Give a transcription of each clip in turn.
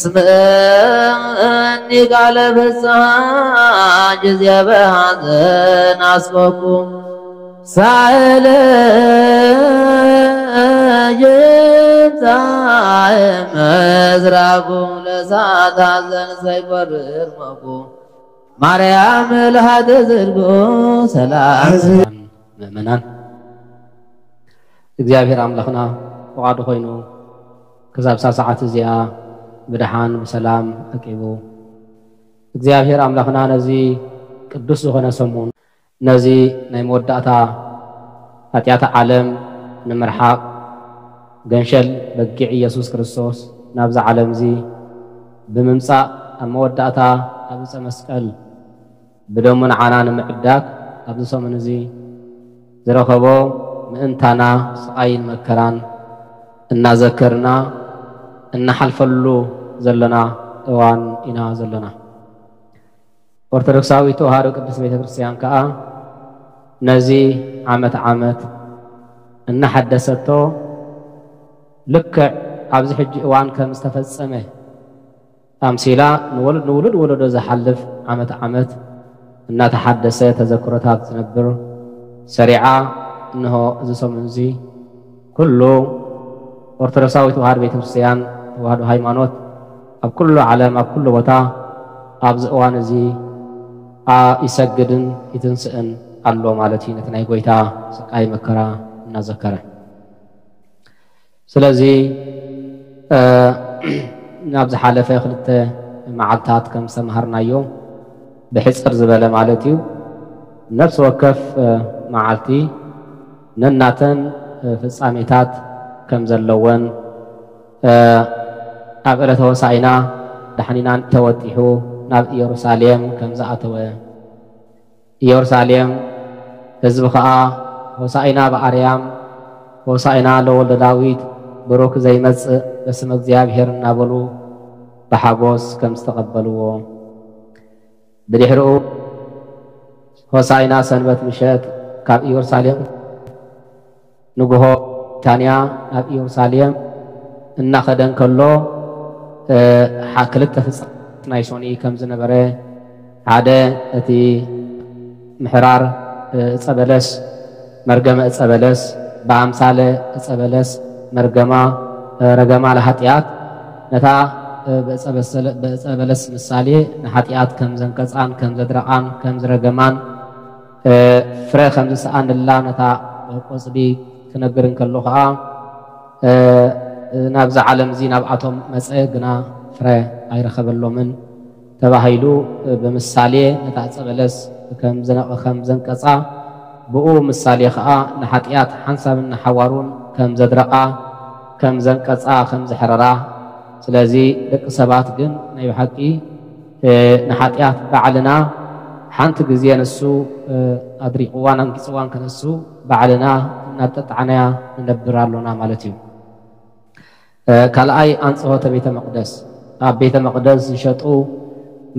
ስምዕኒ ቃለ ፍስሓ ጊዜ በሐዘን ኣስበኩ ሳእለ ጅምፃ ምስራኩ ለሳት ሐዘን ሰይቆርር መኩ ማርያም ልሃተ ዝርግኡ ሰላም ምእመናን እግዚኣብሔር ኣምላኽና ፍቓዱ ኮይኑ ክሳብ እዛ ሰዓት እዚኣ ብደሓን ብሰላም ኣቂቡ እግዚኣብሔር ኣምላኽና ነዚ ቅዱስ ዝኾነ ሰሙን ነዚ ናይ መወዳእታ ኃጢኣት ዓለም ንምርሓቕ ገንሸል በጊዕ ኢየሱስ ክርስቶስ ናብዚ ዓለም እዚ ብምምጻእ ኣብ መወዳእታ ኣብ ዕፀ መስቀል ብደሙ ንዓና ንምዕዳግ ኣብዚ ሰሙን እዚ ዝረኸቦ ምእንታና ስቓይን መከራን እናዘከርና እናሓልፈሉ ዘለና እዋን ኢና ዘለና። ኦርቶዶክሳዊት ተዋህዶ ቅድስት ቤተ ክርስቲያን ከኣ ነዚ ዓመት ዓመት እናሓደሰቶ ልክዕ ኣብዚ ሕጂ እዋን ከም ዝተፈጸመ ኣምሲላ ንወለድ ንውሉድ ወለዶ ዝሓልፍ ዓመት ዓመት እናተሓደሰ ተዘክሮታት ዝነብር ሰሪዓ እንሆ እዚ ሰሙን እዚ ኩሉ ኦርቶዶክሳዊ ተዋህዶ ቤተክርስትያን ተዋህዶ ሃይማኖት ኣብ ኩሉ ዓለም ኣብ ኩሉ ቦታ ኣብዚ እዋን እዚ ይሰግድን ይትንስእን ኣሎ ማለት እዩ። ነቲ ናይ ጎይታ ስቃይ መከራ እናዘከረ ስለዚ ናብ ዝሓለፈ ክልተ መዓልታት ከም ዝተምሃርናዮ ብሕፅር ዝበለ ማለት እዩ ነፍሲ ወከፍ መዓልቲ ነናተን ፍጻሜታት ከም ዘለወን ኣብ ዕለተ ሆሳኢና ዳሕኒናን ተወጢሑ ናብ ኢየሩሳሌም ከም ዝኣተወ ኢየሩሳሌም ህዝቢ ኸዓ ሆሳኢና ብኣርያም ሆሳኢና ለወልደ ዳዊት ብሩክ ዘይመጽእ በስመ እግዚኣብሔር እናበሉ ብሓጎስ ከም ዝተቐበልዎ ብድሕሪኡ ሆሳኢና ሰንበት ምሸት ካብ ኢየሩሳሌም ንግሆ ታንያ ናብ ኢየሩሳሌም እናኸደ እንከሎ ክልተ ፍጻሜ ናይ ሶኒ ከም ዝነበረ ሓደ እቲ ምሕራር እፀ በለስ መርገመ እፀ በለስ ብኣምሳለ እፀ በለስ መርገማ ረገማ ለሃጢኣት ነታ ብእፀ በለስ ምሳሌ ንሓጢኣት ከም ዘንቀፃን ከም ዘድረቓን ከም ዝረገማን ፍረ ከም ዝሰኣንላ ነታ ቆፅሊ ክነግር እንከሎ ከዓ ናብዛ ዓለም እዚ ናብኣቶም መፀ ግና ፍረ ኣይረኸበሎምን ተባሂሉ ብምሳሌ ነታ ዕፀ በለስ ከም ዘንቀፃ ብኡ ምሳሌ ከዓ ንሓጢኣት ሓንሳብን ንሓዋሩን ከም ዘድረቓ ከም ዘንቀፃ ከም ዘሕረራ ስለዚ ደቂ ሰባት ግን ናይ ብሓቂ ንሓጢኣት ባዕልና ሓንቲ ግዜ ንሱ ኣድሪቕዋን ኣንጊፅዋን ከነሱ ባዕልና እናጠጣዕናያ ንነብር ኣሎና ማለት እዩ። ካልኣይ ኣንፅሆተ ቤተ መቅደስ ኣብ ቤተ መቅደስ ዝሸጡ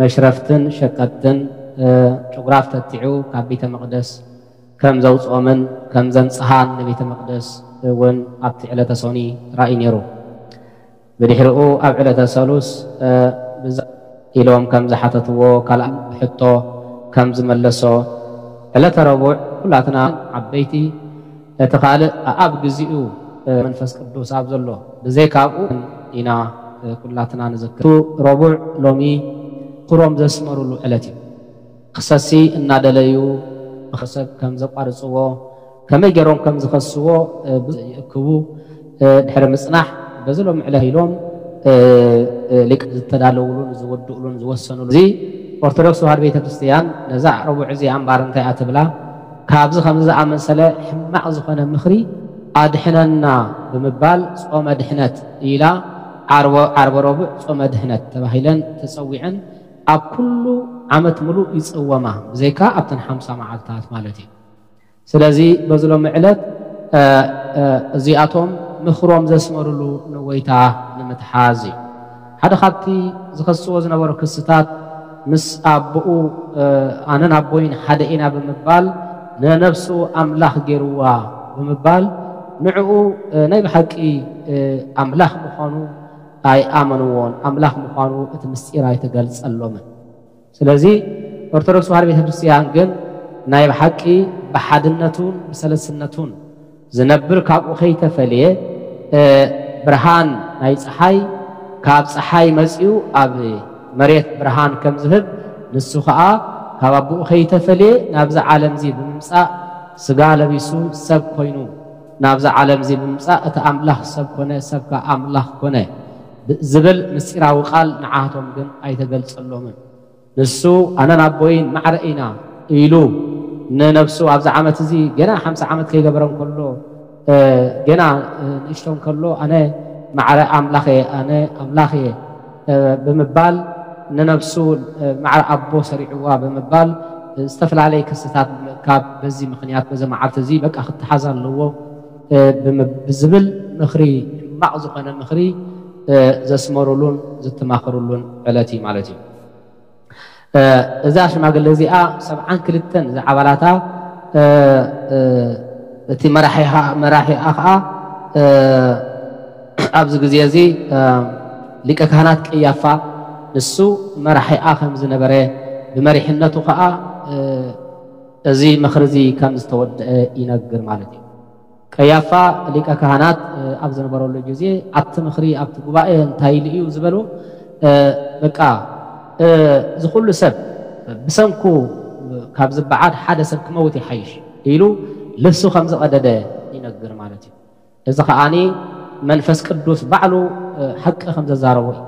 መሽረፍትን ሸቀጥትን ጭጉራፍ ተቲዑ ካብ ቤተ መቅደስ ከም ዘውፅኦምን ከም ዘንፅሃን ንቤተ መቅደስ እውን ኣብቲ ዕለተ ሶኒ ራእዩ ነይሩ። ብድሕሪኡ ኣብ ዕለተ ሰሉስ ኢሎም ከም ዝሓተትዎ ካልኣ ሕቶ ከም ዝመለሶ ዕለተ ረቡዕ ኩላትና ዓበይቲ እቲ ካልእ ኣብ ግዚኡ መንፈስ ቅዱስ ኣብ ዘሎ ብዘይካብኡ ኢና ኩላትና ንዝክር ረቡዕ ሎሚ ክሮም ዘስመሩሉ ዕለት እዩ። ክሰሲ እናደለዩ ሰብ ከም ዘቋርፅዎ ከመይ ገይሮም ከም ዝኸስዎ ይእክቡ ድሕሪ ምፅናሕ በዚ ሎም ዕለት ኢሎም ሊቅ ዝተዳለውሉን ዝውድእሉን ዝወሰኑሉ እዚ ኦርቶዶክስ ተዋህዶ ቤተክርስትያን ነዛ ረቡዕ እዚኣ እምባር እንታይ እያ ትብላ ካብዚ ከምዚ ዝኣመሰለ ሕማቕ ዝኾነ ምኽሪ ኣድሕነና ብምባል ጾመ ድሕነት ኢላ ዓርበ ረቡዕ ጾመ ድሕነት ተባሂለን ተፀዊዐን ኣብ ኩሉ ዓመት ምሉእ ይፅወማ ብዘይካ ኣብተን ሓምሳ መዓልታት ማለት እዩ። ስለዚ በዚ ሎሚ ዕለት እዚኣቶም ምኽሮም ዘስመሩሉ ንጎይታ ንምትሓዝ እዩ። ሓደ ካብቲ ዝኸስዎ ዝነበሩ ክስታት ምስ ኣቦኡ ኣነን ኣቦይን ሓደ ኢና ብምባል ንነብሱ ኣምላኽ ገይርዋ ብምባል ንዕኡ ናይ ብሓቂ ኣምላኽ ምዃኑ ኣይኣመንዎን። ኣምላኽ ምዃኑ እቲ ምስጢር ኣይተገልጸሎምን። ስለዚ ኦርቶዶክስ ተዋህዶ ቤተክርስትያን ግን ናይ ብሓቂ ብሓድነቱን ብሰለስነቱን ዝነብር ካብኡ ከይተፈልየ፣ እ፣ ብርሃን ናይ ፀሓይ ካብ ፀሓይ መፂኡ ኣብ መሬት ብርሃን ከም ዝህብ፣ ንሱ ኸዓ ካብ ኣቦኡ ከይተፈልየ ናብዚ ዓለም እዚ ብምምፃእ ስጋ ለቢሱ ሰብ ኮይኑ ናብዚ ዓለም እዚ ብምምፃእ እቲ ኣምላኽ ሰብ ኮነ፣ ሰብ ከዓ ኣምላኽ ኮነ ዝብል ምስጢራዊ ቃል ንዓቶም ግን ኣይተገልጸሎምን። ንሱ ኣነን ኣቦይን ማዕረ ኢና ኢሉ ንነብሱ ኣብዚ ዓመት እዚ ገና ሓምሳ ዓመት ከይገበረ እንከሎ፣ እ፣ ገና፣ እ፣ ንእሽቶ እንከሎ ኣነ ማዕረ ኣምላኽ እየ፣ ኣነ ኣምላኽ እየ፣ እ፣ ብምባል ንነብሱ፣ እ፣ ማዕረ ኣቦ ሰሪዕዋ ብምባል፣ እ፣ ዝተፈላለየ ክስታት ብምእካብ በዚ ምኽንያት በዚ መዓልቲ እዚ በቃ ክተሓዝ ኣለዎ፣ እ፣ ብምብ-፣ ብዝብል ምኽሪ፣ ሕማቕ ዝኾነ ምኽሪ፣ እ፣ ዘስመሩሉን ዝተማኽሩሉን ዕለት እዩ ማለት እዩ። እ፣ እዛ ሽማግለ እዚኣ ሰብዓን ክልተን ዝዓባላታ፣ እ፣ እ፣ እቲ መራሒኻ-፣ መራሒኣ ኸዓ፣ እ፣ ኣብዚ ግዜ እዚ፣ እ፣ ሊቀ ካህናት ቀያፋ ንሱ መራሒኣ ከም ዝነበረ፣ ብመሪሕነቱ ኸዓ፣ እ፣ እዚ ምኽሪ እዚ ከም ዝተወደአ ይነግር ማለት እዩ። ቀያፋ ሊቀ ካህናት፣ እ፣ ኣብ ዝነበረሉ ግዜ ኣብቲ ምኽሪ፣ ኣብቲ ጉባኤ እንታይ ኢሉ እዩ ዝበሉ? እ፣ በቃ፣ እ፣ እዚ ኩሉ ሰብ ብሰንኩ ካብ ዝበዓድ ሓደ ሰብ ክመውት ይሓይሽ ኢሉ ልብሱ ከም ዝቐደደ ይነግር ማለት እዩ። እዚ ከዓኒ መንፈስ ቅዱስ ባዕሉ፣ እ፣ ሓቂ ከም ዘዛረቦ እዩ።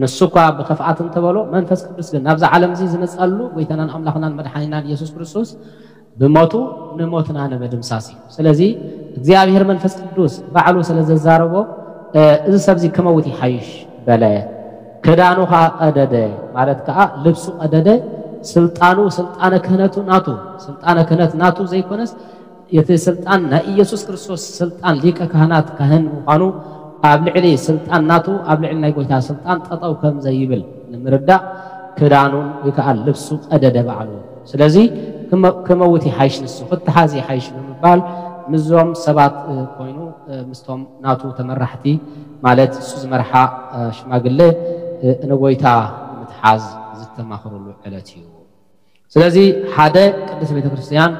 ንሱ እኳ ብኽፍኣት እንተበሎ፣ መንፈስ ቅዱስ ግን ናብዛ ዓለም እዚ ዝመጸሉ ጎይታናን ኣምላኽናን መድሓኒናን ኢየሱስ ክርስቶስ ብሞቱ ንሞትና ንምድምሳስ እዩ። ስለዚ እግዚኣብሔር መንፈስ ቅዱስ ባዕሉ ስለ ዘዛረቦ፣ እ፣ እዚ ሰብ እዚ ክመውት ይሓይሽ በለ። ክዳኑ ኸዓ ቀደደ፣ ማለት ከኣ ልብሱ ቀደደ። ስልጣኑ፣ ስልጣነ ክህነቱ ናቱ፣ ስልጣነ ክህነት ናቱ ዘይኮነስ፣ እቲ ስልጣን ናይ ኢየሱስ ክርስቶስ ስልጣን ሊቀ ካህናት ካህን ምዃኑ፣ ኣብ ልዕሊ ስልጣን ናቱ፣ ኣብ ልዕሊ ናይ ጎይታ ስልጣን ጠጠው ከም ዘይብል ንምርዳእ፣ ክዳኑን ወይ ከኣ ልብሱ ቀደደ ባዕሉ። ስለዚ ክመ-፣ ክመውት ይሓይሽ ንሱ፣ ክተሓዝ ይሓይሽ ብምባል ምስዞም ሰባት፣ እ፣ ኮይኑ፣ እ፣ ምስቶም ናቱ ተመራሕቲ፣ ማለት እሱ ዝመርሓ፣ እ፣ ሽማግለ፣ እ፣ ንጎይታ ንምትሓዝ ዝተማኽሩሉ ዕለት እዩ። ስለዚ ሓደ ቅድስት ቤተ ክርስቲያን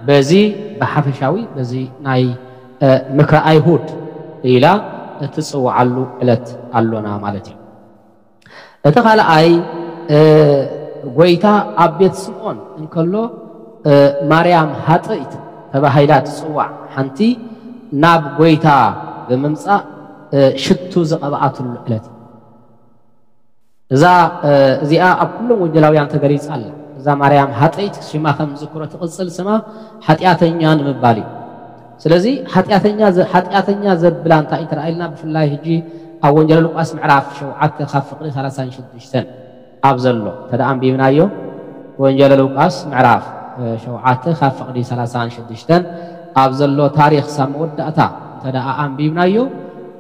በዚ ብሓፈሻዊ በዚ ናይ፣ እ፣ ምክረ ኣይሁድ ኢላ እትጽውዓሉ ዕለት ኣሎና ማለት እዩ። እቲ ካልኣይ፣ እ፣ ጎይታ ኣብ ቤት ስምዖን እንከሎ፣ እ፣ ማርያም ሃጥእት ተባሂላ ትጽዋዕ ሓንቲ ናብ ጎይታ ብምምጻእ፣ እ፣ ሽቱ ዝቐብኣትሉ ዕለት እዩ። እዛ፣ እ፣ እዚኣ ኣብ ኩሎም ወንጌላውያን ተገሊጻ ኣላ። እዛ ማርያም ሃጠይት ሽማ ከም ዝዝክሮ ትቕጽል ስማ ሓጢኣተኛ ንምባል እዩ። ስለዚ ሓጢኣተኛ ዘ-፣ ሓጢኣተኛ ዘብላ እንታይ እዩ ተራእየልና? ብፍላይ ሕጂ ኣብ ወንጌል ሉቃስ ምዕራፍ ሸውዓተ ካብ ፍቕዲ ሰላሳን ሽዱሽተን ኣብ ዘሎ እንተ ደኣ ኣንቢብናዮ፣ ወንጌል ሉቃስ ምዕራፍ፣ እ፣ ሸውዓተ ካብ ፍቕዲ ሰላሳን ሽዱሽተን ኣብ ዘሎ ታሪኽ ሳብ መወዳእታ እንተ ደኣ ኣንቢብናዮ፣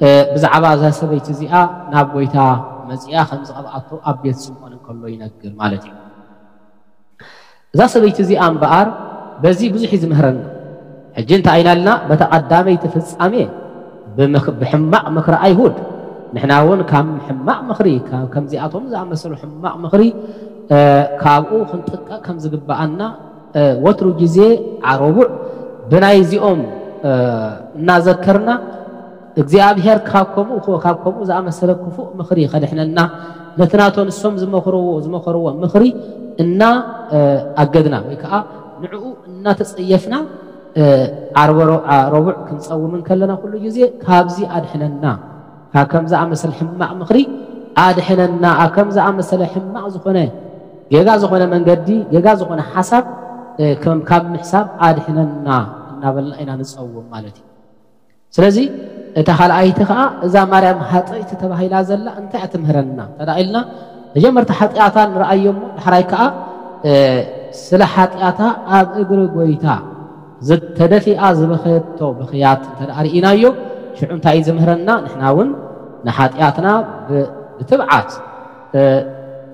እ፣ ብዛዕባ እዛ ሰበይቲ እዚኣ ናብ ጎይታ መጺኣ ከም ዝቐብኣቶ ኣብ ቤት ስምዖን እንከሎ ይነግር ማለት እዩ። እዛ ሰበይቲ እዚኣ እምበኣር በዚ ብዙሕ እዩ ዝምህረና። ሕጂ እንታይ ኢና ኢልና? በታ ቀዳመይቲ ፍጻሜ ብምኽ-፣ ብሕማቕ ምኽሪ ኣይሁድ፣ ንሕና እውን ካብ ሕማቕ ምኽሪ፣ ካብ ከምዚኣቶም ዝኣመሰሉ ሕማቕ ምኽሪ፣ እ፣ ካብኡ ክንጥቀቕ ከም ዝግብኣና፣ እ፣ ወትሩ ግዜ ዓረቡዕ ብናይዚኦም፣ እ፣ እናዘከርና፣ እግዚኣብሔር ካብ ከምኡ፣ ካብ ከምኡ ዝኣመሰለ ክፉእ ምኽሪ ከድሕነና፣ ነቲ ናቶ ንሶም ዝመኽርዎ፣ ዝመኸርዎ ምኽሪ እና፣ እ፣ ኣገድና ወይ ከዓ ንዕኡ እናተጸየፍና፣ እ፣ ዓርበ ሮ-፣ ዓ-፣ ረቡዕ ክንጸውም እንከለና ኩሉ ግዜ ካብዚ ኣድሕነና፣ ካብ ከም ዝኣመሰለ ሕማቕ ምኽሪ ኣድሕነና፣ ኣብ ከም ዝኣመሰለ ሕማቕ ዝኾነ፣ ጌጋ ዝኾነ መንገዲ፣ ጌጋ ዝኾነ ሓሳብ፣ እ፣ ከም ካብ ምሕሳብ ኣድሕነና እናበልና ኢና ንጸውም ማለት እዩ። ስለዚ እታ ካልኣይቲ ኸዓ እዛ ማርያም ሃጠይቲ ተባሂላ ዘላ እንታይ እያ ትምህረና እንተ ደኣ ኢልና፣ መጀመርታ ሓጢኣታ ንረኣዮ እሞ፣ ዳሕራይ ከኣ፣ እ፣ ስለ ሓጢኣታ ኣብ እግሪ ጎይታ ዝተደፊኣ ዝበኸየቶ ብኽያት እንተ ደኣ ርኢናዮ፣ ሽዑ እንታይ እዩ ዝምህረና? ንሕና እውን ንሓጢኣትና ብ-፣ ብትብዓት፣ እ፣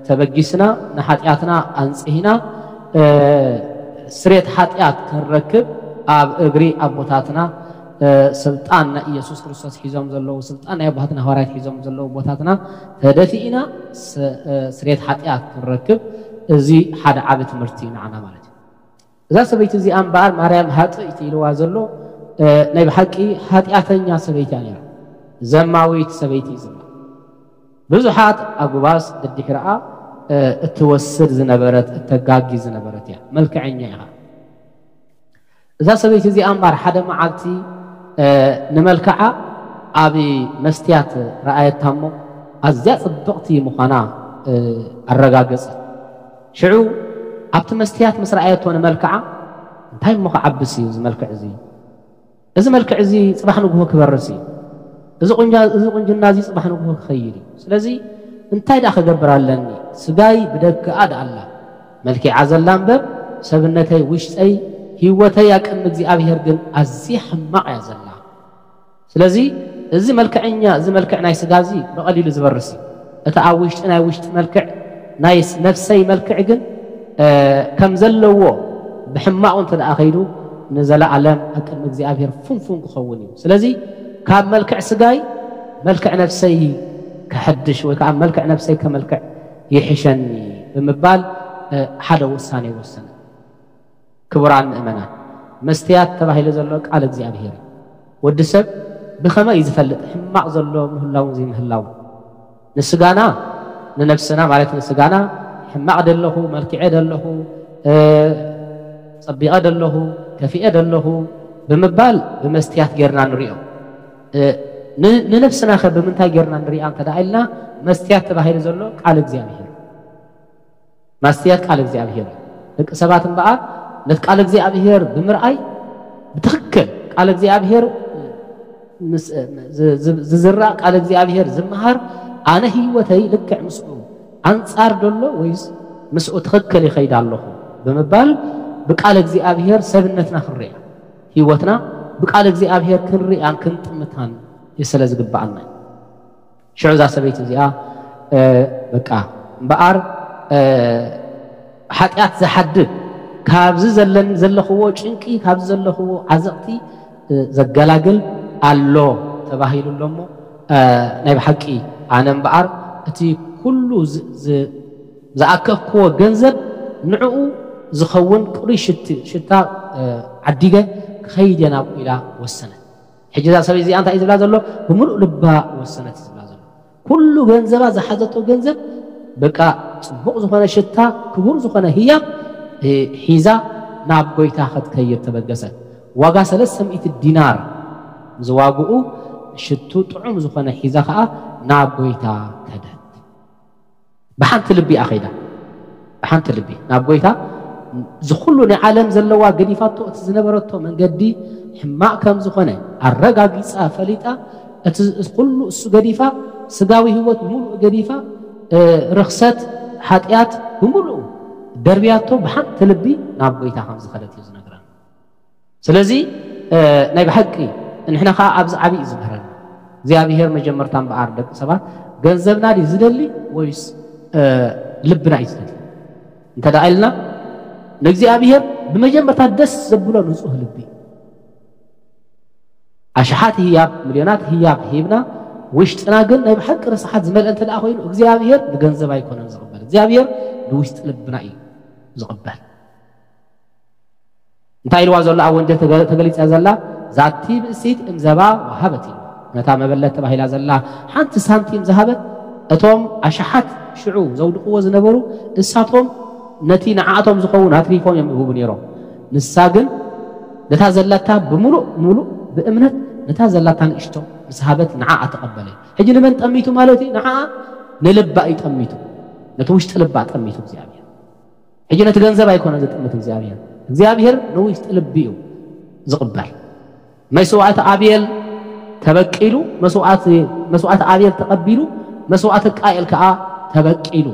ተበጊስና፣ ንሓጢኣትና ኣንጽሂና፣ እ፣ ስሬት ሓጢኣት ክንረክብ ኣብ እግሪ ኣቦታትና ስልጣን ናይ ኢየሱስ ክርስቶስ ሒዞም ዘለዉ፣ ስልጣን ናይ ኣቦታትና ሃዋርያት ሒዞም ዘለዉ ቦታትና ተደፊእና ስሬት ሓጢኣት ክንረክብ፣ እዚ ሓደ ዓቢ ትምህርቲ እዩ ንዓና ማለት እዩ። እዛ ሰበይቲ እዚኣ እምበኣር ማርያም ሃጥእቲ ኢልዋ ዘሎ ናይ ብሓቂ ሓጢኣተኛ ሰበይቲ እያ ነይራ። ዘማዊት ሰበይቲ እዩ ዝብላ። ብዙሓት ኣጉባዝ ድድሕርኣ እትወስድ ዝነበረት፣ እተጋጊ ዝነበረት እያ። መልክዐኛ ኢኻ። እዛ ሰበይቲ እዚኣ እምበኣር ሓደ መዓልቲ ንመልክዓ ኣብ መስትያት ረኣየታ እሞ ኣዝያ ጽብቕቲ ምዃና ኣረጋገጸት። ሽዑ ኣብቲ መስትያት ምስ ረኣየቶ ንመልክዓ፣ እንታይ እሞ ክዓብስ እዩ እዚ መልክዕ እዚ? እዚ መልክዕ እዚ ጽባሕ ንግሆ ክበርስ እዩ። እዚ ቁንጃ-፣ እዚ ቁንጅና እዚ ጽባሕ ንግሆ ክኸይድ እዩ። ስለዚ እንታይ ደኣ ክገብር ኣለኒ? ስጋይ ብደገኣ ደኣ ኣላ መልኪዓ ዘላ እምበር፣ ሰብነተይ፣ ውሽጠይ፣ ህይወተይ ኣብ ቅድሚ እግዚኣብሔር ግን ኣዝያ ሕማቕ እያ ዘላ። ስለዚ እዚ መልክዐኛ፣ እዚ መልክዕ ናይ ስጋ እዚ ብቐሊሉ ዝበርስ እዩ። እቲ ኣብ ውሽጢ ናይ ውሽጢ መልክዕ ናይ ስ-፣ ነፍሰይ መልክዕ ግን ከም ዘለዎ ብሕማቑ እንተ ደኣ ከይዱ ንዘለኣለም ኣብ ቅድሚ እግዚኣብሔር ፍንፉን ክኸውን እዩ። ስለዚ ካብ መልክዕ ስጋይ መልክዕ ነፍሰይ ክሐድሽ ወይ ከዓ መልክዕ ነፍሰይ ከመልክዕ ይሕሸኒ ብምባል ሓደ ውሳኔ ወሰነ። ክቡራን ምእመናን፣ መስትያት ተባሂሉ ዘሎ ቃል እግዚኣብሔር እዩ። ወዲ ሰብ ብኸመይ እዩ ዝፈልጥ ሕማቕ ዘሎ ምህላውን ዘይምህላውን? ንስጋና፣ ንነፍስና ማለት ንስጋና፣ ሕማቕ ደለኹ፣ መልክዐ ደለኹ፣ እ፣ ጸቢቐ ደለኹ፣ ከፊኤ ደለኹ ብምባል ብመስትያት ጌርና ንሪኦ። እ፣ ን-፣ ንነፍስና ኸ ብምንታይ ጌርና ንሪኣ እንተ ደኣ ኢልና፣ መስትያት ተባሂሉ ዘሎ ቃል እግዚኣብሔር። ማስትያት ቃል እግዚኣብሔር እዩ። ደቂ ሰባት እምበኣር ነቲ ቃል እግዚኣብሔር ብምርኣይ ብትኽክል ቃል እግዚኣብሔር ምስ-፣ ዝ-፣ ዝ-፣ ዝዝራእ ቃል እግዚኣብሔር ዝመሃር ኣነ ህይወተይ ልክዕ ምስኡ ኣንጻር ደሎ ወይስ ምስኡ ትኽክል ይኸይድ ኣለኹ ብምባል ብቃል እግዚኣብሔር ሰብነትና ክንርያ፣ ህይወትና ብቃል እግዚኣብሔር ክንርያን ክንጥምታን ስለ ዝግብኣና እዩ። ሽዑ እዛ ሰበይቲ እዚኣ፣ እ፣ በቃ እምበኣር፣ እ፣ ሓጢኣት ዝሓድግ ካብዚ ዘለን-፣ ዘለኽዎ ጭንቂ፣ ካብዚ ዘለኽዎ ዓዘቕቲ፣ እ፣ ዘገላግል ኣሎ ተባሂሉ ኣሎ እሞ፣ እ፣ ናይ ብሓቂ ኣነ እምበኣር እቲ ኩሉ ዝ-፣ ዝ-፣ ዝኣከብክዎ ገንዘብ ንዕኡ ዝኸውን ቅሩይ ሽቲ-፣ ሽታ፣ እ፣ ዓዲገ ክኸይድ እየ ናብኡ ኢላ ወሰነት። ሕጂ እዛ ሰበይቲ እዚኣ እንታይ እዩ ዝብላ ዘሎ? ብምሉእ ልባ ወሰነት እዩ ዝብላ ዘሎ። ኩሉ ገንዘባ ዝሓዘቶ ገንዘብ በቃ ጽቡቕ ዝኾነ ሽታ፣ ክቡር ዝኾነ ህያብ፣ እ፣ ሒዛ ናብ ጎይታ ክትከይድ ተበገሰት። ዋጋ ሰለስተ ሚእቲ ዲናር ዝዋግኡ ሽቱ ጥዑም ዝኾነ ሒዛ ኸኣ ናብ ጎይታ ከደት። ብሓንቲ ልቢ እያ ኸይዳ። ብሓንቲ ልቢ ናብ ጎይታ እዚ ኩሉ ናይ ዓለም ዘለዋ ገዲፋቶ፣ እቲ ዝነበረቶ መንገዲ ሕማቕ ከም ዝኾነ ኣረጋጊጻ ፈሊጣ፣ እቲ ኩሉ እሱ ገዲፋ፣ ስጋዊ ህይወት ብምሉእ ገዲፋ፣ እ፣ ርኽሰት፣ ሓጢኣት ብምሉኡ ደርብያቶ ብሓንቲ ልቢ ናብ ጎይታ ከም ዝኸደት እዩ ዝነግረና። ስለዚ፣ እ፣ ናይ ብሓቂ ንሕና ኸዓ ኣብዚ ዓቢ እዩ ዝምህረና። እግዚኣብሔር መጀመርታ እምበኣር ደቂ ሰባት ገንዘብና ድዩ ዝደሊ ወይስ፣ እ፣ ልብና እዩ ዝደሊ? እንተ ደኣ ኢልና ንእግዚኣብሔር ብመጀመርታ ደስ ዘብሎ ንጹህ ልቢ። ኣሽሓት ህያብ፣ ሚልዮናት ህያብ ሂብና ውሽጥና ግን ናይ ብሓቂ ርስሓት ዝመልአ እንተ ደኣ ኮይኑ እግዚኣብሔር ንገንዘብ ኣይኮነን ዝቕበል። እግዚኣብሔር ንውሽጢ ልብና እዩ ዝቕበል። እንታይ ኢልዋ ዘሎ ኣብ ወንጌል ተገ-፣ ተገሊጸ ዘላ? ዛቲ ብእሲት እምዘባ ወሃበት ኢሉ። ነታ መበለት ተባሂላ ዘላ ሓንቲ ሳንቲም ዝሃበት፣ እቶም ኣሽሓት ሽዑ ዘውድቕዎ ዝነበሩ፣ እሳቶም ነቲ ንዓኣቶም ዝኸውን ኣትሪፎም እዮም ይህቡ ነይሮም። ንሳ ግን ነታ ዘላታ ብምሉእ ምሉእ ብእምነት ነታ ዘላታ ንእሽቶ ምስ ሃበት ንዓኣ ተቐበለ። ሕጂ ንመን ጠሚቱ ማለት እዩ? ንዓኣ ንልባ እዩ ጠሚቱ። ነቲ ውሽጢ ልባ ጠሚቱ እግዚኣብሔር። ሕጂ ነቲ ገንዘብ ኣይኮነን ዝጥምት እግዚኣብሔር። እግዚኣብሔር ንውሽጢ ልቢ እዩ ዝቕበል። መስዋዕቲ ኣቤል ተበቂሉ፣ መስዋዕቲ፣ መስዋዕቲ ኣቤል ተቐቢሉ፣ መስዋዕቲ ቃኤል ከኣ ተበቂሉ።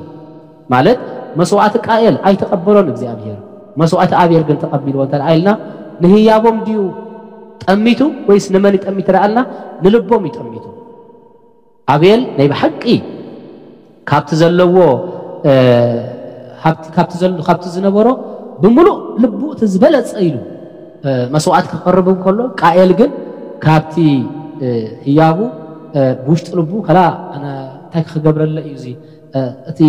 ማለት መስዋዕቲ ቃኤል ኣይተቐበሎን እግዚኣብሔር፣ መስዋዕቲ ኣቤል ግን ተቐቢልዎ እንተ ደኣ ኢልና ንህያቦም ድዩ ጠሚቱ ወይስ ንመን እዩ ጠሚቱ ደኣ ኢልና ንልቦም እዩ ጠሚቱ። ኣቤል ናይ ብሓቂ ካብቲ ዘለዎ፣ እ፣ ሃብቲ፣ ካብቲ ዘል-፣ ካብቲ ዝነበሮ ብምሉእ ልቡ እቲ ዝበለጸ ኢሉ፣ እ፣ መስዋዕቲ ክቐርብ እንከሎ፣ ቃኤል ግን ካብቲ ህያቡ ብውሽጢ ልቡ ከላ እንታይ ክገብረለ እዩ እዚ እቲ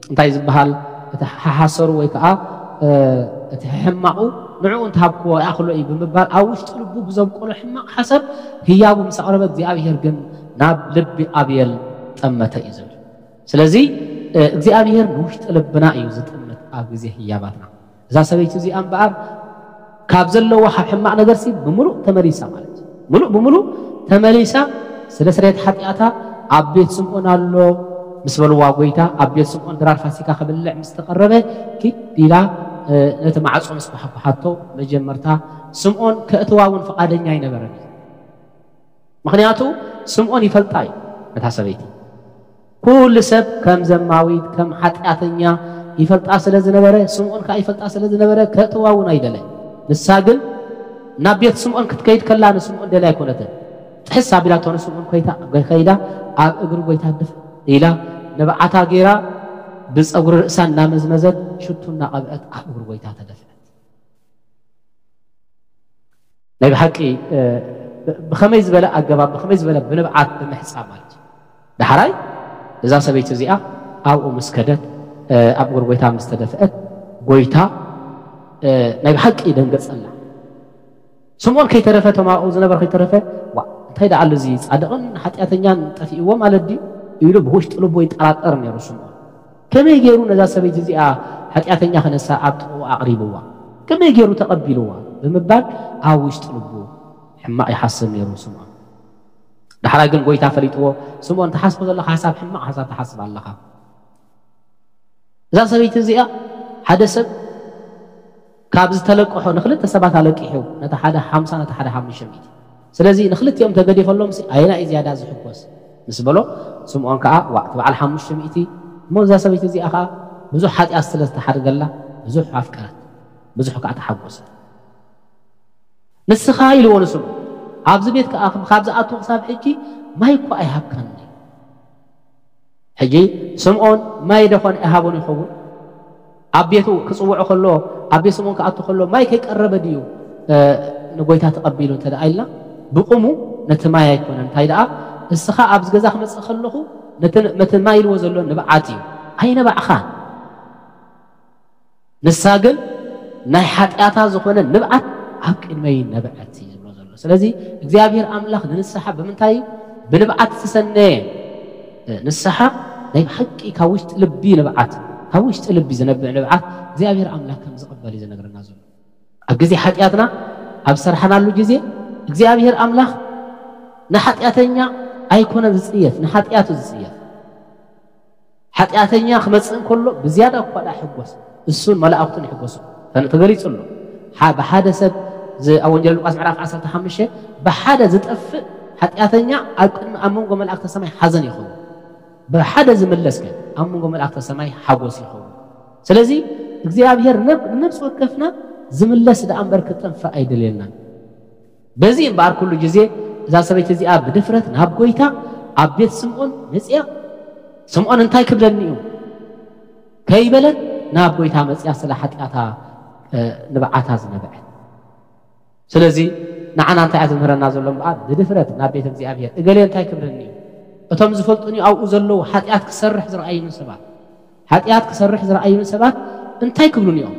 እንታይ ዝበሃል እቲ ሓሓሰሩ ወይ ከዓ እቲ ሕማቑ ንዕኡ እንተሃብክዎ ይኣኽሎ እዩ ብምባል ኣብ ውሽጢ ልቡ ብዘብቆሎ ሕማቕ ሓሳብ ህያቡ ምስ ኣቕረበ እግዚኣብሔር ግን ናብ ልቢ ኣብየል ጠመተ እዩ ዝብል። ስለዚ እግዚኣብሔር ንውሽጢ ልብና እዩ ዝጥምት ኣብ ግዜ ህያባትና። እዛ ሰበይቲ እዚኣ እምበኣር ካብ ዘለዎ ካብ ሕማቕ ነገርሲ ብምሉእ ተመሊሳ ማለት እዩ። ምሉእ ብምሉእ ተመሊሳ ስለ ስርየት ሓጢኣታ ኣብ ቤት ስምዖን ኣሎ ምስ በልዋ ጎይታ ኣብ ቤት ስምዖን ድራር ፋሲካ ክብልዕ ምስ ተቐረበ ኪድ ኢላ ነቲ ማዕጾ ምስ ኳሓኳሓቶ መጀመርታ ስምዖን ከእትዋ እውን ፍቓደኛ ኣይነበረን እዩ። ምኽንያቱ ስምዖን ይፈልጣ እዩ ነታ ሰበይቲ። ኩሉ ሰብ ከም ዘማዊት ከም ሓጢኣተኛ ይፈልጣ ስለ ዝነበረ ስምዖን ከዓ ይፈልጣ ስለ ዝነበረ ከእትዋ እውን ኣይደለ። ንሳ ግን ናብ ቤት ስምዖን ክትከይድ ከላ ንስምዖን ደልያ ኣይኮነትን። ጥሕስ ኣቢላቶ ንስምዖን ኮይታ ከይዳ ኣብ እግሪ ጎይታ ድፍ ኢላ ንብዓታ ገይራ ብፀጉሪ ርእሳ እናመዝመዘት ሽቱ እናቐብአት ኣብ እግሪ ጎይታ ተደፍዐት። ናይ ብሓቂ ብኸመይ ዝበለ ኣገባብ ብኸመይ ዝበለ ብንብዓት ብምሕፃብ ማለት እዩ። ዳሕራይ እዛ ሰበይቲ እዚኣ ኣብኡ ምስ ከደት ኣብ እግሪ ጎይታ ምስ ተደፍአት ጎይታ ናይ ብሓቂ ደንገፀላ። ስምዖን ከይተረፈ እቶም ኣብኡ ዝነበሩ ከይተረፈ ዋ እንታይ ደኣ ኣሎ እዚ ፃድቕን ሓጢኣተኛን ጠፊእዎ ማለት ድዩ ኢሉ ብውሽጢ ልቡ ይጠራጠር ነይሩ ስምዖን። ከመይ ገይሩ ነዛ ሰበይቲ እዚኣ ሓጢኣተኛ ክነሳ ኣብ ጥቕኡ ኣቕሪብዋ ከመይ ገይሩ ተቐቢልዋ ብምባል ኣብ ውሽጢ ልቡ ሕማቕ ይሓስብ ነይሩ ስምዖን። ዳሕራይ ግን ጎይታ ፈሊጥዎ ስምዖን ትሓስቦ ዘለኻ ሓሳብ ሕማቕ ሓሳብ ትሓስብ ኣለኻ። እዛ ሰበይቲ እዚኣ ሓደ ሰብ ካብ ዝተለቅሖ ንክልተ ሰባት ኣለቂሑ ነቲ ሓደ ሓምሳ ነቲ ሓደ ሓሙሽተ ሚእቲ ስለዚ ንክልቲኦም ተገዲፈሎም ኣየና እዩ ዝያዳ ዝሕጎስ ምስ በሎ ስምዖን ከዓ ዋ እቲ በዓል ሓሙሽተ ሚእቲ እሞ እዛ ሰበይቲ እዚኣ ከዓ ብዙሕ ሓጢኣት ስለ ዝተሓደገላ ብዙሕ ኣፍቀረት ብዙሕ ከዓ ተሓጎሰት። ንስኻ ኢልዎ ንስምዖን ኣብዚ ቤት ከዓ ካብ ዝኣቱ ክሳብ ሕጂ ማይ እኳ ኣይሃብካኒ። ሕጂ ስምዖን ማይ ደኾን ኣይሃቦን ይኸውን? ኣብ ቤቱ ክፅውዖ ከሎ ኣብ ቤት ስምዖን ክኣቱ ከሎ ማይ ከይቀረበ ድዩ ንጎይታ ተቐቢሉ እንተ ደኣ ኢልና ብቁሙ ነቲ ማይ ኣይኮነን። እንታይ ደኣ እስኻ ኣብዚ ገዛ ክመፅእ ከለኹ ነቲ ማይ ኢልዎ ዘሎ ንብዓት እዩ ኣይነባዕኻን። ንሳ ግን ናይ ሓጢኣታ ዝኾነ ንብዓት ኣብ ቅድመይ ነበዐት እዩ ዝብሎ ዘሎ። ስለዚ እግዚኣብሔር ኣምላኽ ንንስሓ ብምንታይ እዩ? ብንብዓት ዝተሰነየ ንስሓ ናይ ብሓቂ ካብ ውሽጢ ልቢ ንብዓት ካብ ውሽጢ ልቢ ዝነብዕ ንብዓት እግዚኣብሔር ኣምላኽ ከም ዝቕበል እዩ ዝነግረና ዘሎ። ኣብ ግዜ ሓጢኣትና ኣብ ዝሰርሓናሉ ግዜ እግዚኣብሔር ኣምላኽ ንሓጢኣተኛ ኣይኮነን ዝፅየፍ፣ ንሓጢኣቱ ዝፅየፍ። ሓጢኣተኛ ክመፅእ እንከሎ ብዝያዳ እኳ ደኣ ሕጎስ እሱን መላእኽቱን ይሕጎሱ። ተን- ተገሊጹ ኣሎ። ሓ- ብሓደ ሰብ ዝ- ኣብ ወንጌል ሉቃስ ምዕራፍ ዓሰርተ ሓሙሽተ ብሓደ ዝጠፍእ ሓጢኣተኛ ኣብ ቅድሚ ኣብ መንጎ መላእክተ ሰማይ ሓዘን ይኸውን። ብሓደ ዝምለስ ግን ኣብ መንጎ መላእክተ ሰማይ ሓጎስ ይኸውን። ስለዚ እግዚኣብሔር ነብ- ንነብሲ ወከፍና ዝምለስ ደኣ እምበር ክጠፍእ ኣይደልየናን። በዚ እምበኣር ኩሉ ግዜ እዛ ሰበይቲ እዚኣ ብድፍረት ናብ ጎይታ ኣብ ቤት ስምዖን መፅያ ስምዖን እንታይ ክብለኒ እዩ ከይበለት ናብ ጎይታ መፅያ ስለ ሓጢኣታ ንብዓታ ዝነበዐት። ስለዚ ንዓና እንታይ እያ ዝምህረና ዘሎ እምበኣር ብድፍረት ናብ ቤት እግዚኣብሔር እገሌ እንታይ ክብለኒ እዩ እቶም ዝፈልጡኒ ኣብኡ ዘለዉ ሓጢኣት ክሰርሕ ዝረኣዩኒ ሰባት ሓጢኣት ክሰርሕ ዝረኣዩኒ ሰባት እንታይ ክብሉኒ እዮም?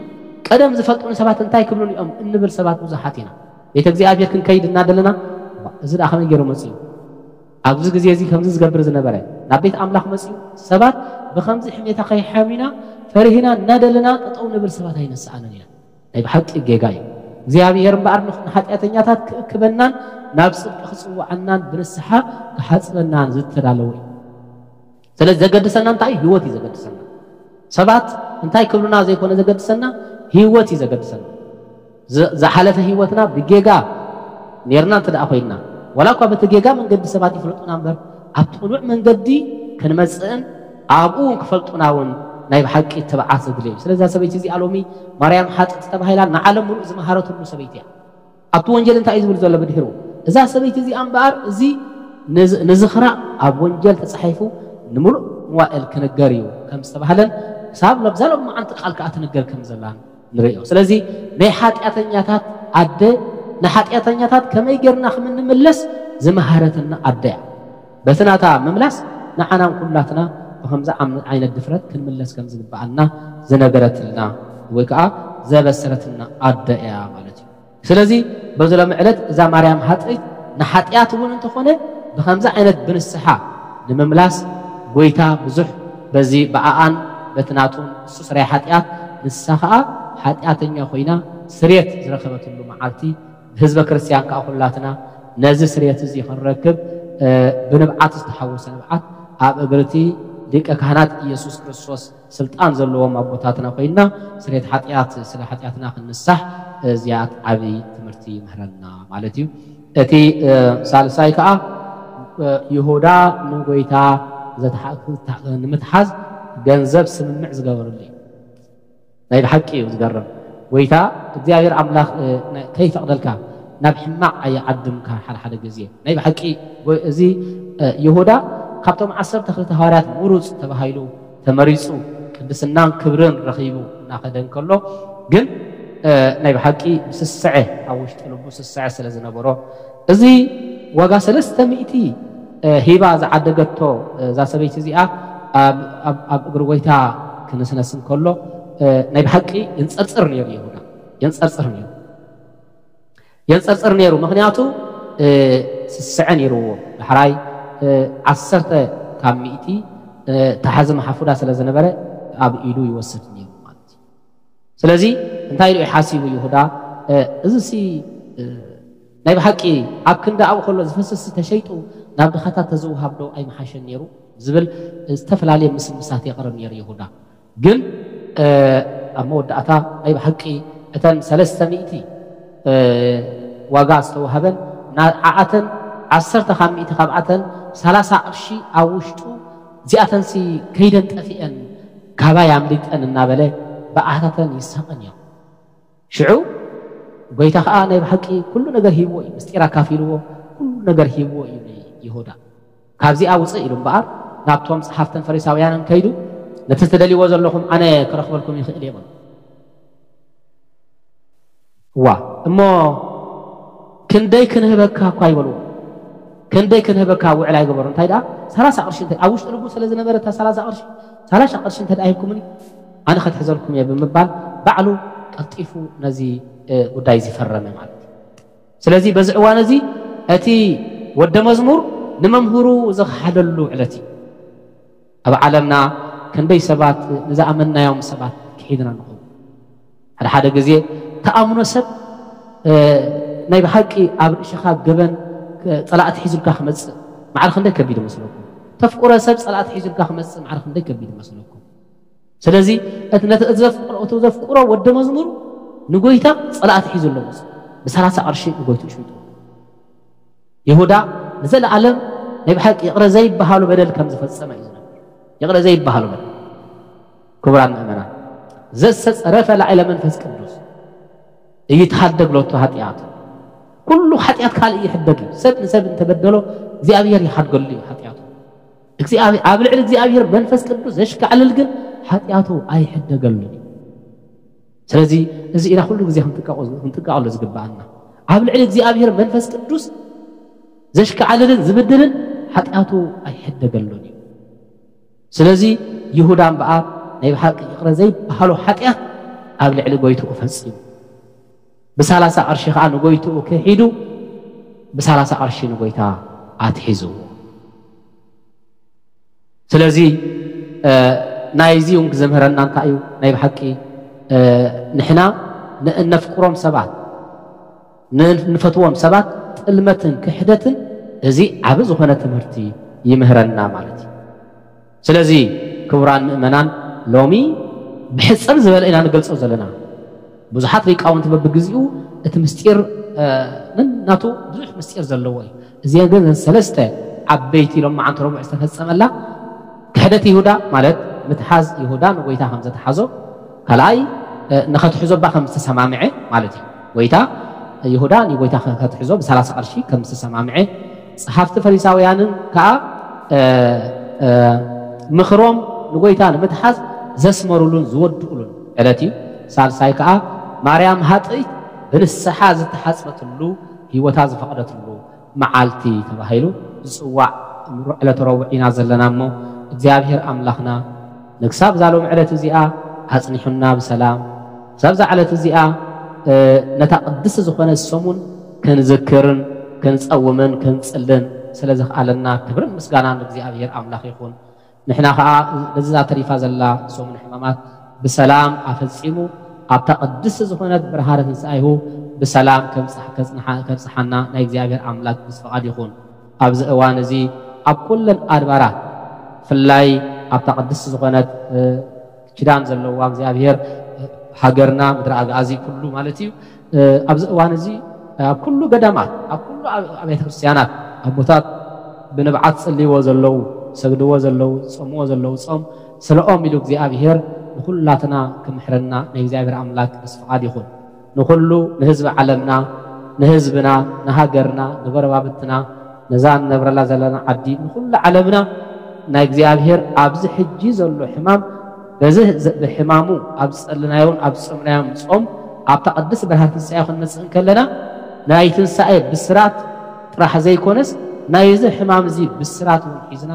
ቀደም ዝፈልጡኒ ሰባት እንታይ ክብሉኒ እዮም እንብል ሰባት ብዙሓት ኢና። ቤተ እግዚኣብሔር ክንከይድ እናደለና እዚ ደኣ ከመይ ገይሩ መፅኡ? ኣብዚ ግዜ እዚ ከምዚ ዝገብር ዝነበረ ናብ ቤት ኣምላኽ መፅኡ ሰባት ብከምዚ ሕሜታ ከይሓሚና ፈሪህና እናደለና ጠጠው ንብል ሰባት ኣይነስኣንን ኢና። ናይ ብሓቂ ጌጋ እዩ። እግዚኣብሔር እምበኣር ንሓጢኣተኛታት ክእክበናን ናብ ፅድቂ ክፅውዓናን ብንስሓ ክሓፅበናን ዝተዳለወ እዩ። ስለዚ ዘገድሰና እንታይ ህይወት እዩ ዘገድሰና። ሰባት እንታይ ክብሉና ዘይኮነ ዘገድሰና ህይወት እዩ ዘገድሰና። ዝሓለፈ ህይወትና ብጌጋ ኔርና እንተ ደኣ ኮይንና ዋላ እኳ በቲ ጌጋ መንገዲ ሰባት ይፍለጡና እምበር ኣብቲ ቅኑዕ መንገዲ ክንመፅእን ኣብኡ እውን ክፈልጡና እውን ናይ ብሓቂ ትብዓት ዘድልየ እዩ። ስለዚ ሰበይቲ እዚኣ ሎሚ ማርያም ሓጥቲ ተባሂላ ንዓለም ሙሉእ ዝመሃረትሉ ሰበይቲ እያ። ኣብቲ ወንጀል እንታይ እዩ ዝብል ዘሎ ብድሕሩ? እዛ ሰበይቲ እዚኣ እምበኣር እዚ ንዝኽራ ኣብ ወንጀል ተፃሒፉ ንምሉእ መዋእል ክንገር እዩ ከም ዝተባህለን ክሳብ ለብዛ ሎም መዓንቲ ቃል ከዓ ትንገር ከም ዘላን ንርእዮ። ስለዚ ናይ ሓጢኣተኛታት ኣደ ንሓጢኣተኛታት ከመይ ጌርና ከም እንምለስ ዝመሃረትና ኣደ እያ። በቲ ናታ ምምላስ ንዓናን ኩላትና ብኸምዚ ዓም-፣ ዓይነት ድፍረት ክንምለስ ከም ዝግብኣና ዝነገረትልና ወይ ከዓ ዘበሰረትና ኣደ እያ ማለት እዩ። ስለዚ በዚ ሎሚ ዕለት እዛ ማርያም ሃጥእት ንሓጢኣት እውን እንተኾነ ብኸምዚ ዓይነት ብንስሓ ንምምላስ ጎይታ ብዙሕ በዚ ብኣኣን በቲ ናቱን እሱ ስራይ ሓጢኣት ንሳ ኸዓ ሓጢኣተኛ ኮይና ስርየት ዝረኸበትሉ መዓልቲ ህዝበ ክርስቲያን ከኣ ኩላትና ነዚ ስርየት እዚ ክንረክብ ብንብዓት ዝተሓወሰ ንብዓት ኣብ እግርቲ ሊቀ ካህናት ኢየሱስ ክርስቶስ ስልጣን ዘለዎም ኣቦታትና ኮይንና ስርየት ሓጢኣት ስለ ሓጢኣትና ክንንሳሕ እዚኣት ዓብዪ ትምህርቲ ይምህረና ማለት እዩ። እቲ ሳልሳይ ከዓ ይሁዳ ንጎይታ ንምትሓዝ ገንዘብ ስምምዕ ዝገበረሉ እዩ። ናይ ብሓቂ እዩ ዝገርም። ጎይታ እግዚኣብሔር ኣምላኽ ከይፈቕደልካ ናብ ሕማቕ ኣየዓድምካ። ሓደ ሓደ ግዜ ናይ ብሓቂ እዚ ይሁዳ ካብቶም ዓሰርተ ክልተ ሃዋርያት ምሩፅ ተባሂሉ ተመሪፁ ቅድስናን ክብርን ረኺቡ እናኸደ እንከሎ ግን ናይ ብሓቂ ስስዐ ኣብ ውሽጢ ልቡ ስስዐ ስለ ዝነበሮ እዚ ዋጋ ሰለስተ ሚእቲ ሂባ ዝዓደገቶ እዛ ሰበይቲ እዚኣ ኣብ እግሪ ጎይታ ክነስነስ እንከሎ ናይ ብሓቂ የንፀርፅር ነይሩ ይሁዳ። የንፀርፅር ነይሩ። የንፀርፅር ነይሩ። ምኽንያቱ ስስዐ ነይርዎ። ዳሕራይ ዓሰርተ ካብ ሚእቲ ተሓዚ መሓፉዳ ስለ ዝነበረ ኣብ ኢዱ ይወስድ ነይሩ ማለት እዩ። ስለዚ እንታይ ኢሉ ሓሲቡ ይሁዳ፣ እዚ ሲ ናይ ብሓቂ ኣብ ክንዲ ኣብኡ ከሎ ዝፈስስ ተሸይጡ ናብ ድኻታት ተዝውሃብ ዶ ኣይምሓሸን ነይሩ ዝብል ዝተፈላለየ ምስምሳት የቕርብ ነይሩ ይሁዳ። ግን ኣብ መወዳእታ ናይ ብሓቂ እተን ሰለስተ ሚእቲ ዋጋ ዝተዋህበን ዓኣተን ዓሰርተ ካብ ሚእቲ ካብኣተን ሰላሳ ቅርሺ ኣብ ውሽጡ እዚኣተንሲ ከይደን ጠፊአን ካባይ ኣምሊጠን እናበለ ብኣህታተን ይሳቐን እዮም። ሽዑ ጎይታ ከዓ ናይ ብሓቂ ኩሉ ነገር ሂብዎ እዩ። ምስጢር ኣካፊልዎ ኩሉ ነገር ሂብዎ እዩ ንይሁዳ። ካብዚኣ ውፅእ ኢሉ እምበኣር ናብቶም ፀሓፍትን ፈሪሳውያንን ከይዱ ነቲ ትደልይዎ ዘለኹም ኣነ ክረኽበልኩም ይኽእል እየ በሉ። እዋ እሞ ክንደይ ክንህበካ እኳ ይበልዎ። ክንደይ ክንህበካ ውዕል ኣይገበሩ። እንታይ ደኣ ሰላሳ ቅርሺ እንተ ኣብ ውሽጢ ልቡ ስለ ዝነበረ እታ ሰላሳ ቅርሺ ሰላሳ ቅርሺ እንተ ደኣ ሂብኩምኒ ኣነ ከትሕዘልኩም እየ ብምባል ባዕሉ ቀልጢፉ ነዚ ጉዳይ እዚ ፈረመ ማለት እዩ። ስለዚ በዚ እዋን እዚ እቲ ወደ መዝሙር ንመምህሩ ዝኸሓደሉ ዕለት እዩ። ኣብ ዓለምና ክንደይ ሰባት ንዝኣመንናዮም ሰባት ክሒድና ንኸውን። ሓደ ሓደ ግዜ ተኣምኖ ሰብ ናይ ብሓቂ ኣብ ርእሽኻ ገበን ፀላእቲ ሒዙልካ ክመፅእ ማዕረ ክንደይ ከቢድ መስለኩም? ተፍቁረ ሰብ ፀላእቲ ሒዙልካ ክመፅእ ማዕረ ክንደይ ከቢድ መስለኩም? ስለዚ እቲ ነቲ ዘፍቅሮ ወዲ መዝሙር ንጎይታ ፀላእቲ ሒዙ ኣሎ መፅእ ብሰላሳ ቅርሺ ንጎይትኡ ሸይጡ። ይሁዳ ንዘለኣለም ናይ ብሓቂ ይቕረ ዘይበሃሉ በደል ከም ዝፈጸመ እዩ ዝነግር። ይቕረ ዘይበሃሉ በደል። ክቡራን ምእመናን፣ ዘሰጸረፈ ላዕለ መንፈስ ቅዱስ እይትሃደግ ሎቱ ሓጢኣቱ። ኩሉ ሓጢኣት ካልእ ይሕደግ እዩ። ሰብ ንሰብ እንተበደሎ እግዚኣብሔር ይሓድገሉ እዩ ሓጢኣቱ። ኣብ ልዕሊ እግዚኣብሔር መንፈስ ቅዱስ ዘሽካዕልል ግን ሓጢኣቱ ኣይሕደገሉን እዩ። ስለዚ እዚ ኢና ኩሉ ግዜ ክንጥንቀቐሉ ዝግብኣና። ኣብ ልዕሊ እግዚኣብሔር መንፈስ ቅዱስ ዘሽካዕልልን ዝብድልን ሓጢኣቱ ኣይሕደገሉን እዩ። ስለዚ ይሁዳ እምበኣር ናይ ብሓቂ ይቕረ ዘይበሃሎ ሓጢኣት ኣብ ልዕሊ ጎይትኡ ፈጺሙ። ብሳላሳ ቅርሺ ኸዓ ንጎይትኡ ክሒዱ ብሳላሳ ቅርሺ ንጎይታ ኣትሒዝዎ። ስለዚ ናይዚ እውን ክዘምህረና እንታይ እዩ? ናይ ብሓቂ ንሕና ንእነፍቅሮም ሰባት ንፈትዎም ሰባት ጥልመትን ክሕደትን እዚ ዓብ ዝኾነ ትምህርቲ ይምህረና ማለት እዩ። ስለዚ ክቡራን ምእመናን ሎሚ ብሕፅር ዝበለ ኢና ንገልፆ ዘለና። ብዙሓት ሊቃውንቲ በብግዚኡ እቲ ምስጢር ነናቱ ብዙሕ ምስጢር ዘለዎ እዩ። እዚአን ግን ሰለስተ ዓበይቲ ኢሎም መዓንተ ረቡዕ ዝተፈፀመላ ክሕደት ይሁዳ ማለት ምትሓዝ ይሁዳ ንጎይታ ከም ዘተሓዞ፣ ካልኣይ ንኸትሕዞ እባ ከም ዝተሰማምዐ ማለት እዩ። ጎይታ ይሁዳ ንጎይታ ከትሕዞ ብሰላሳ ቅርሺ ከም ዝተሰማምዐ፣ ፀሓፍቲ ፈሪሳውያንን ከዓ ምኽሮም ንጎይታ ንምትሓዝ ዘስመሩሉን ዝወድኡሉን ዕለት እዩ። ሳልሳይ ከዓ ማርያም ሃጥእት ብንስሓ ዝተሓጽበትሉ፣ ህይወታ ዝፈቐደትሉ መዓልቲ ተባሂሉ ዝጽዋዕ ዕለተ ረቡዕ ኢና ዘለና እሞ፣ እግዚኣብሔር ኣምላኽና ንክሳብ እዛ ሎም ዕለት እዚኣ ኣጽኒሑና ብሰላም፣ ክሳብ እዛ ዕለት እዚኣ፣ እ፣ ነታ ቅድስቲ ዝኾነ ሰሙን ክንዝክርን ክንጸውምን ክንጽልን ስለ ዘኽኣለና ክብርን ምስጋናን ንእግዚኣብሔር ኣምላኽ ይኹን። ንሕና ኸኣ ነዛ ተሪፋ ዘላ ሰሙን ሕማማት ብሰላም ኣፈጺሙ ኣብታ ቅድስቲ ዝኾነት ብርሃነ ትንሳኤሁ ብሰላም ከብጽሕ-፣ ከጽንሓ-፣ ከብጽሓና ናይ እግዚኣብሔር ኣምላክ ምስ ፈቓድ ይኹን። ኣብዚ እዋን እዚ ኣብ ኩለን ኣድባራት፣ ብፍላይ ኣብታ ቅድስቲ ዝኾነት፣ እ፣ ኪዳን ዘለዋ እግዚኣብሔር፣ እ፣ ሃገርና፣ ምድሪ ኣግኣዚ ኩሉ ማለት እዩ። እ፣ ኣብዚ እዋን እዚ ኣብ ኩሉ ገዳማት፣ ኣብ ኩሉ ኣብ-፣ ኣብያተ ክርስቲያናት ኣቦታት ብንብዓት ጸልይዎ ዘለዉ፣ ሰግድዎ ዘለዉ፣ ዝጸምዎ ዘለዉ ጾም፣ ስለኦም ኢሉ እግዚኣብሔር ንኹላትና ክምሕረና ናይ እግዚኣብሔር ኣምላክ ቅዱስ ፍቓድ ይኹን። ንኹሉ፣ ንህዝቢ ዓለምና፣ ንህዝብና፣ ንሃገርና፣ ንጎረባብትና፣ ነዛ ንነብረላ ዘለና ዓዲ፣ ንኹሉ ዓለምና ናይ እግዚኣብሔር ኣብዚ ሕጂ ዘሎ ሕማም፣ በዚ ዘ-፣ ብሕማሙ ኣብ ዝጸልናዮን ኣብ ዝጸምናዮን ጾም፣ ኣብታ ቅድስቲ ብርሃን ትንሳኤ ክንመጽእ እንከለና፣ ናይ ትንሳኤ ብስራት ጥራሕ ዘይኮነስ፣ ናይዚ ሕማም እዚ ብስራት እውን ሒዝና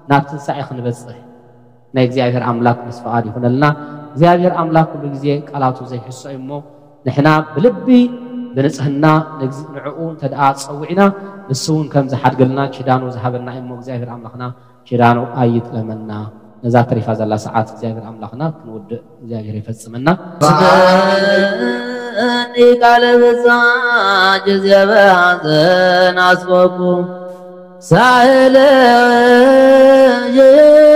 ናብ ትንሳኤ ክንበጽሕ ናይ እግዚኣብሔር ኣምላክ ምስ ፍቓድ ይኹነልና። እግዚኣብሔር ኣምላክ ኩሉ ግዜ ቃላቱ ዘይሕሶ እዩ እሞ፣ ንሕና ብልቢ ብንጽህና ንግዝ-፣ ንዕኡ እንተ ደኣ ጸዊዕና፣ ንሱ እውን ከም ዝሓድገልና ኪዳኑ ዝሃበና እዩ እሞ፣ እግዚኣብሔር ኣምላኽና ኪዳኑ ኣይጥለመና። ነዛ ተሪፋ ዘላ ሰዓት እግዚኣብሔር ኣምላኽና ክንውድእ እግዚኣብሔር ይፈጽመና። ስምኒ ቃለ ብጻ ጊዜ በሐዘን አስበኩ ሳህለ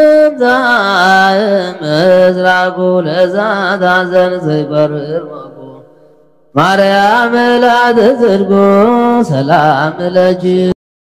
ይምጻእ ምስራቁ ለዛ ታዘን ዘይበርር ወቁ ማርያም ላተ ጽድቁ ሰላም ለኪ